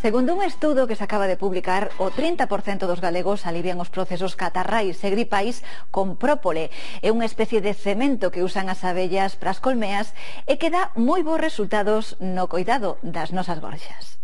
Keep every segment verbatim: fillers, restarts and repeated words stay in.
Segundo un estudo que se acaba de publicar, o trinta por cento dos galegos alivian os procesos catarrais e gripais con própole. É unha especie de cemento que usan as abellas para as colmeas e que dá moi bons resultados no coidado das nosas gorxas.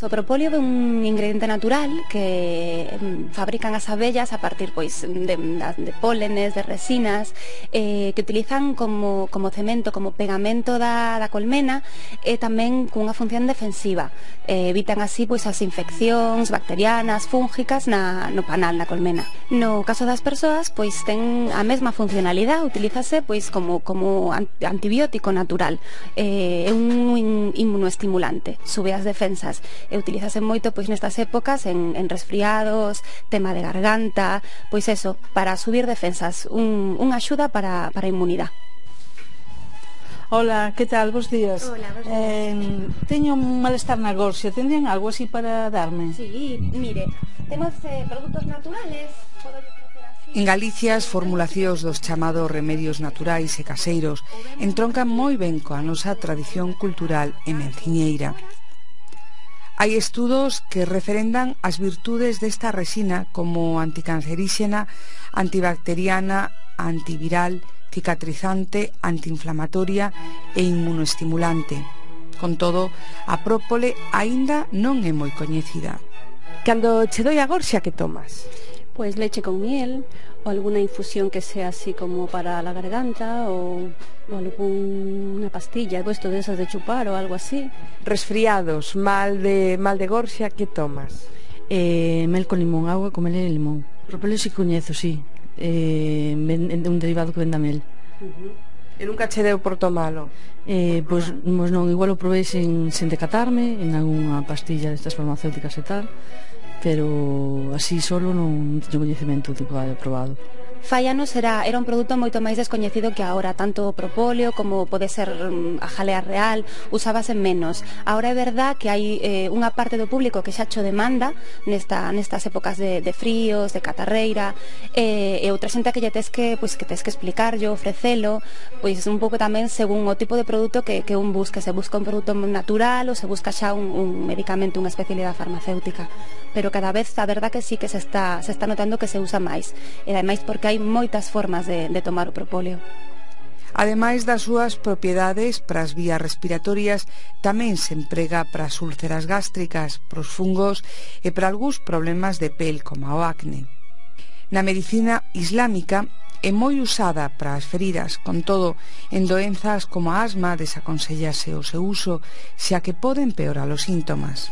O propóleo é un ingrediente natural que fabrican as abellas a partir pois de, de pólenes, de resinas, eh, que utilizan como, como cemento, como pegamento da, da colmena e tamén cunha función defensiva. Eh, evitan así pois as infeccións bacterianas, fúngicas na, no panal da colmena. No caso das persoas, pois ten a mesma funcionalidade, utilízase pois como, como antibiótico natural. Eh, é un inmunoestimulante, sube as defensas. E utilízase moito pois nestas épocas en, en resfriados, tema de garganta, pois eso, para subir defensas, un, unha axuda para, para a inmunidade. Hola, que tal? Bos días. Hola, bos días. Eh, teño un malestar na gorxa, tendrían algo así para darme? Sí, mire, temos eh, produtos naturales, podo ofrecer así. En Galicia as formulacións dos chamados remedios naturais e caseiros entroncan moi ben coa nosa tradición cultural e menciñeira. Hai estudos que referendan as virtudes desta resina como anticanceríxena, antibacteriana, antiviral, cicatrizante, antiinflamatoria e inmunoestimulante. Con todo, a própole aínda non é moi coñecida. Cando che doi a gorxa, que tomas? Pues leche con miel, o alguna infusión que sea así como para la garganta, o, o alguna pastilla, puesto de esas de chupar o algo así. Resfriados, mal de mal de gorxa, que tomas? Eh, mel con limón, agua con mel e limón. Propóleo si coñezo, sí. Eh, un derivado que venda mel. Uh-huh. E nunca che deu por tomalo? Eh, pois, pues, non, igual o probei sen, sen decatarme en algunha pastilla destas farmacéuticas e tal, pero así solo non teño coñecemento do que hai probado. Fai anos era, era un produto moito máis descoñecido que agora, tanto o propóleo como pode ser um, a jalea real, usábase menos. Agora é verdad que hai eh, unha parte do público que xa cho demanda nesta, nestas épocas de, de fríos, de catarreira, eh, e outra xente que lle tes que, pois, que tes que explicarlo, ofrecelo, pois un pouco tamén según o tipo de produto que, que un busque, se busca un produto natural ou se busca xa un, un medicamento, unha especialidade farmacéutica. Pero cada vez a verdad que sí que se está, se está notando que se usa máis, e ademais porque hai moitas formas de, de tomar o propóleo. Ademais das súas propiedades para as vías respiratorias, tamén se emprega para as úlceras gástricas, para os fungos e para algúns problemas de pel, como o acne. Na medicina islámica é moi usada para as feridas, con todo, en doenzas como a asma desaconsellase o seu uso, xa que pode empeorar os síntomas.